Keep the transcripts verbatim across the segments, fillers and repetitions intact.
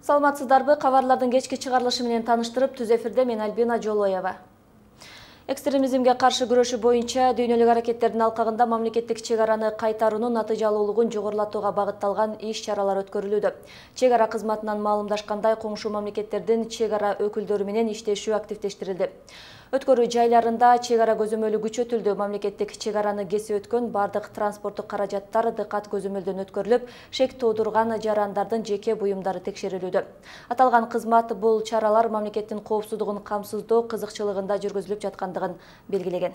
Саламатсыздарбы, кабарлардын кечки чыгарылышы менен таныштырып, түз эфирде мен Альбина Жолоева. Экстремизмге каршы күрөшүү боюнча дүйнөлүк аракеттердин алкагында мамлекеттик чек араны кайтаруунун натыйжалуулугун жогорулатууга багытталган иш-чаралар өткөрүлүүдө. Чек ара кызматынан маалымдашкандай, коңшу мамлекеттердин чек ара өкүлдөрү менен иштешүү активдештирилди. Өткөрүү жайларында чек ара көзөмөлү күчөтүлдү. Мамлекеттик чек араны кесип өткөн бардык транспорттук каражаттар дыкат көзөмөлдөн өткөрүлүп, шек туудурган жарандардын жеке буюмдары текшерилүүдө. Аталган кызмат бул чаралар мамлекеттин коопсуздугун камсыздоо кызыкчылыгында жүргүзүлүп жаткандыгын белгилеген.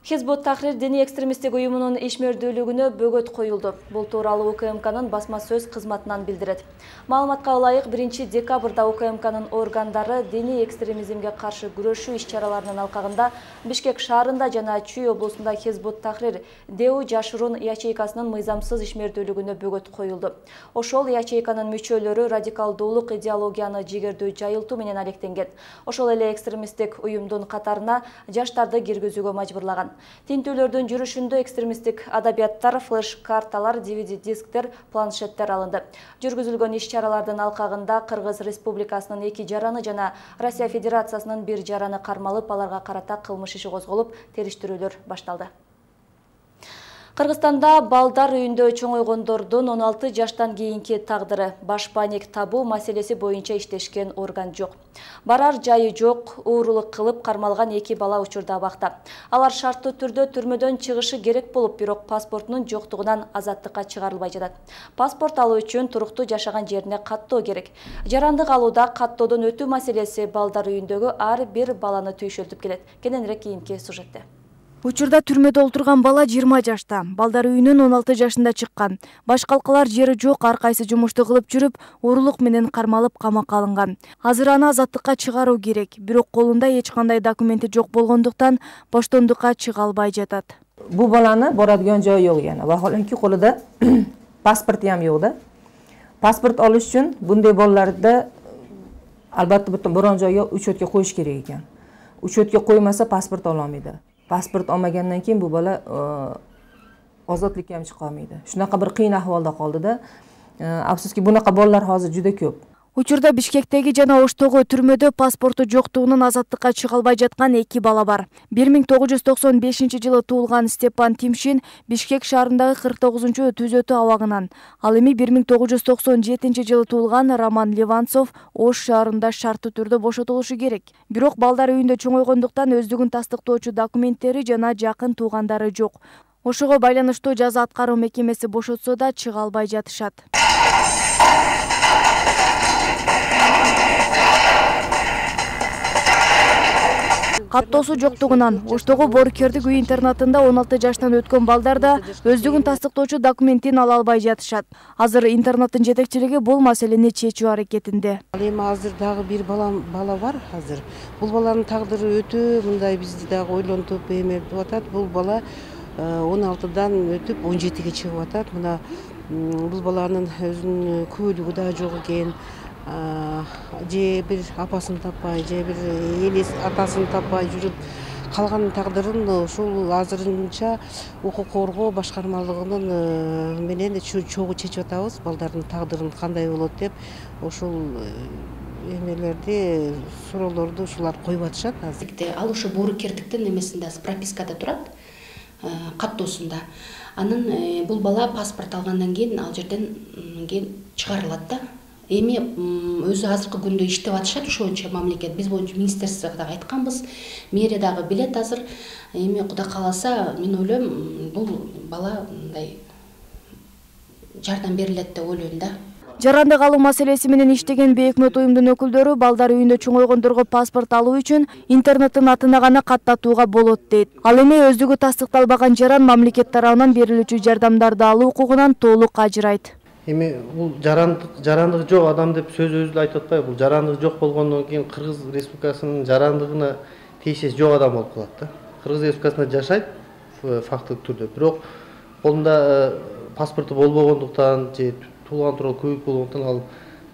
Хизбут Тахрир диний экстремисттик уюмунун ишмердүүлүгүнө бөгөт коюлду. Бул тууралуу УКМКнын басма сөз кызматынан билдирет. Маалыматка ылайык, биринчи декабрда УКМКнын органдары диний экстремизмге каршы күрөшүү иш-чараларынын алкагында Бишкек шаарында жана Чүй облусунда Хизбут Тахрир ДЭУ жашыруун ячейкасынын мыйзамсыз ишмердүүлүгүнө бөгөт коюлду. Ошол ячейканын мүчөлөрү радикалдуулук идеологияны жигердүү жайылтуу менен алектенген. Ошол эле экстремисттик уюмдун катарына жаштарды киргизүүгө мажбурлаган. Тинтүүлөрдүн жүрүшүндө экстремисттик адабияттар, флеш-карталар, ди ви ди-дисктер, планшеттер алынды. Жүргүзүлгөн иш-чаралардын алкагында Кыргыз Республикасынын эки жараны жана Россия Федерациясынын бир жараны кармалып, аларга карата кылмыш иши козголуп, териштирүүлөр башталды. Кыргызстанда балдар үйүндө чоңойгондордун он алты жаштан кийинки тагдыры башпаник табуу маселеси боюнча иштешкен орган жок. Барар жайы жок, уурулук кылып кармалган эки бала учурда абакта. Алар шарттуу түрдө түрмөдөн чыгышы керек болуп, бирок паспортунун жоктугунан азаттыкка чыгарылбай жатат. Паспорт алуу үчүн туруктуу жашаган жерине каттоо керек. Жарандык алууда каттоодон өтүү маселеси балдар үйүндөгү ар бир баланы түйшөлтүп келет. Кененирээк кийинки сюжетте. Учурда түрмөдө олтурган бала жыйырма жашта, балдар үйүнөн он алты жашында чыккан. Баш калкалар жери жок, ар кайсы жумушту кылып жүрүп, уурулук менен кармалып камакка алынган. Азыр аны азаттыкка чыгаруу керек, бирок колунда эч кандай документи жок болгондуктан боштондукка чыга албай жатат. Бул баланы борадыган жөө жок экен. Вахоленки колунда паспорт ham жок да. Паспорт алыш үчүн bunday балаларды албатта бүтүн борон жойго учетке коюш керек экен. Учетке коймаса паспорт ала алмайды. Паспорт алмагандан кийин бул бала озотлукка ham чыга алмайды. Шунака бир кыйын ахвалда калды да. Афсуски бунака балалар азыр жүдө көп. Учурда Бишкектеги жана Оштогу түрмөдө паспорту жоктугунан азаттыкка чыга албай жаткан эки бала бар. бир миң тогуз жүз токсон бешинчи жылы туулган Степан Тимшин Бишкек шаарындагы кырк тогузунчу түзөтүү абагынан, ал эми бир миң тогуз жүз токсон жетинчи жылы туулган Роман Ливанцов Ош шаарында шарттуу түрдө бошотулушу керек. Бирок балдар үйүндө чоңойгондуктан өздүгүн тастыктоочу документтери жана жакын туугандары жок. Ошого байланыштуу жаза аткаруу мекемеси бошотсо да чыга албай жатышат. Каттоосу жоктугунан Оштогу Боорукердик үй интернатында он алты жаштан өткөн балдар да өздүгүн тастыктоочу документин ала албай жатышат. Азыр интернаттын жетекчилиги бул маселени чечүү аракетинде. Эми азыр дагы бир бала бала бар азыр. Бул баланын тагдыры өтө мындай бизди дагы ойлонтуп эмертип атат. Бул бала он алтыдан өтүп он жетиге чыгып атат. Мына бул баланын өзүнүн күбөлүгү да жок экен. Же бир апасын таппай, же бир элес атасын таппай жүрүп калган тагдырын ушул азырынча укук коргоо башкармалыгынын менен чогуу чечип атабыз. Балдардын тагдырын кандай болот деп ошол эмелерди, суроолорду ушулар коюп атышат азыр. Ал ошо Боорукердиктин эмесинде пропискада турат, каттоосунда. Анын бул бала паспорт алгандан кийин ал жерден кийин чыгарылат да. Эми өзү азыркы күндө иштеп атышат ошончо мамлекет. Биз боюнча министерствого дагы айтканбыз, мэрия дагы билет азыр. Эми Кудай кааласа, мен ойлойм, бул бала мындай жардам берилет деп ойлойм да. Жарандык алуу маселеси менен иштеген Бейкнот уюмдун өкүлдөрү балдар үйүндө чоңойгондорго паспорт алуу үчүн интернеттин атына гана каттатууга болот дейт. Ал эми өздүгү тастыкталбаган жаран мамлекет тарабынан берилүүчү жардамдарды алуу укугунан толук ажырайт. Эми бул жарандык жарандыгы жок адам деп сөз өзү айтып атпайбы? Бул жарандыгы жок болгондон кийин Кыргыз Республикасынын жарандыгына тийишеси жок адам болуп калат да. Кыргыз Республикасында жашайт фактылык түрдө, бирок колунда паспорту болбогондуктан же туулган тууралуу күбөлүк болгондуктан ал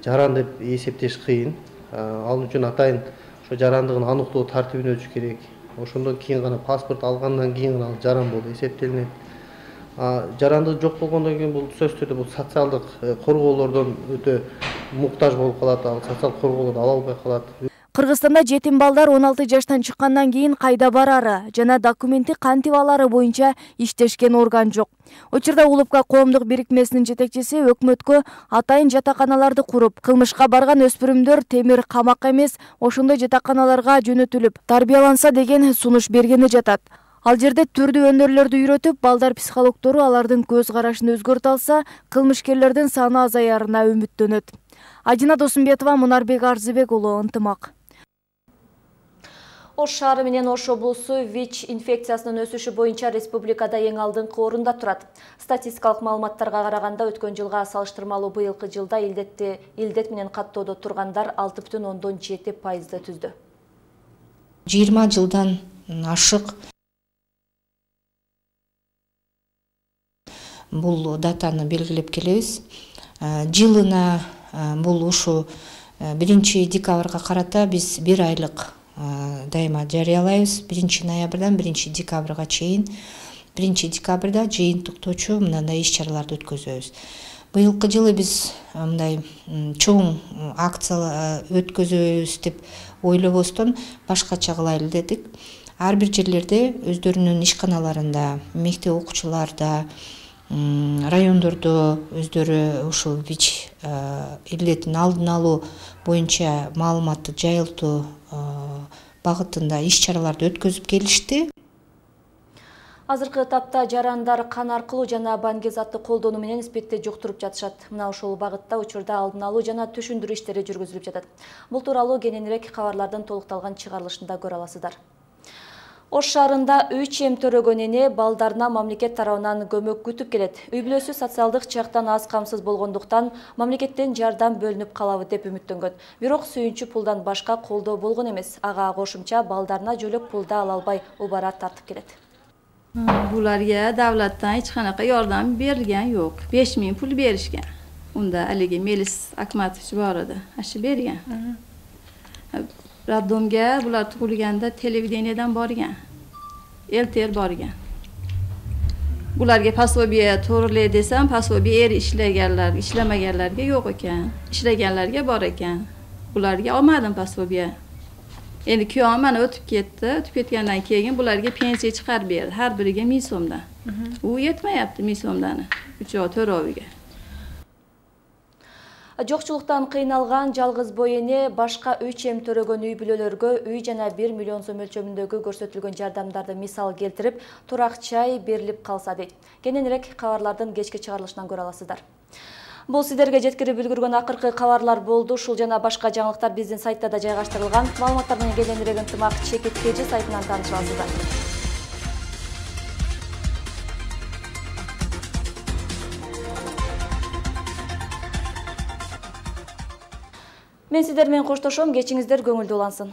жаран деп эсептеш кыйын. Ал үчүн атайын ошо жарандыгын аныктоо тартибине өтүш керек. Ошондон кийин гана паспорт алгандан кийин гана ал жаран болуп эсептелинет. жарандыгы жок болгондон кийин бул сөзсүз түрдө бул социалдык коргоолордон өтө муктаж болуп калат, ал социалдык коргоолорду ала албай калат. Кыргызстанда жетим балдар он алты жаштан чыккандан кийин кайда барары жана документи кантип алары боюнча иштешкен орган жок. Учурда Улупка коомдук бирикмесинин жетекчиси өкмөткө атайын жатаканаларды куруп, кылмышка барган өспүрүмдөр темир камакка эмес, ошондой жатаканаларга жөнөтүлүп тарбияланса деген сунуш бергени жатат. Ал жерде түрдүү өнөрлөрдү үйрөтүп, балдар психологдору алардын көз карашын өзгөртө алса, кылмышкерлердин саны азаярына үмүттөнөт. Ажина Досумбетова, Мунарбек Арзыбек уулу, Ынтымак. Ош шаары менен Ош облусу ВИЧ инфекциясынын өсүшү боюнча республикада эң алдыңкы орунда турат. Статистикалык маалыматтарга караганда өткөн жылга салыштырмалуу быйылкы жылда илдетти илдет менен каттоодо тургандар алты бүтүн ондон жети пайызды түздү. жыйырма жылдан ашык бул датаны белгилеп келебиз. Жылына бул ушу биринчи декабрга карата биз бир айлык дайыма жарыялайбыз. биринчи ноябрдан биринчи декабрга чейин. биринчи декабрда жыйынтыктоочу мындай иш-чараларды өткөзөбүз. Быйылкы жылы биз мындай чоң акция өткөзөбүз деп ойлобостон башкача кылайлы дедик. Ар бир жерлерде өздөрүнүн ишканаларында, мектеп окуучуларда, райондордо өздөрү ушул ВИЧ илдетин алдын алуу боюнча маалыматты жайылтуу багытында иш-чараларды өткөзүп келишти. Азыркы тапта жарандар кан аркылуу жана баңгезатты колдонуу менен спидти жуктуруп жатышат. Мына ошол багытта учурда алдын алуу жана түшүндүрүү иштери жүргүзүлүп жатат. Бул тууралуу кененирээк кабарлардын толукталган чыгарылышында көрө аласыздар. Ош шаарында үй чем төрөгөн эне балдарына мамлекет тарабынан көмөк күтүп келет. Үй бүлөсү социалдык жактан аз камсыз болгондуктан мамлекеттен жардам бөлүнүп калабы деп үмүттөнгөн. Бирок сүйүнчү пулдан башка колдоо болгон эмес. Ага кошумча балдарына жөлөк пулда ала албай убара тартып келет. Буларга давлаттан эч канакай жардам берилген жок. беш миң пул беришкен. Унда алиги Мелис Акматович бар эди. Ашы берген. Роддомга булар тug'ilganda televideniyadan borgan. Elter borgan. Bularga пособие to'g'rilay desam, пособие er ishlaganlar, ishlamaganlarga yo'q ekan. Ishlaganlarga bor ekan. Bularga olmadim пособие. Endi kuyovim mana o'tib ketdi. O'tib ketgandan keyin bularga pensiya chiqarib berdi. Har biriga ming so'mdan. U yetmayapti ming so'mdan. uchovi to'roviga. Жокчулуктан кыйналган жалгыз бой эне башка үй чем төрөгөн үй бүлөлөргө үй жана бир миллион сом мөлчөмүндөгү көрсөтүлгөн жардамдарды мисал келтирип, турак чай берилип калса дейт. Кененирээк кабарлардын кечки чыгарылышынан көрө аласыздар. Бул сиздерге жеткирип үлгүргөн акыркы кабарлар болду. Ушул жана башка жаңылыктар биздин сайтта да жайгаштырылган. Маалыматтар менен кененирээк Ынтымак чекиткечи сайтынан тааныша аласыздар. Мен сиздер менен коштошом, кечиңиздер көңүлдүү улансын.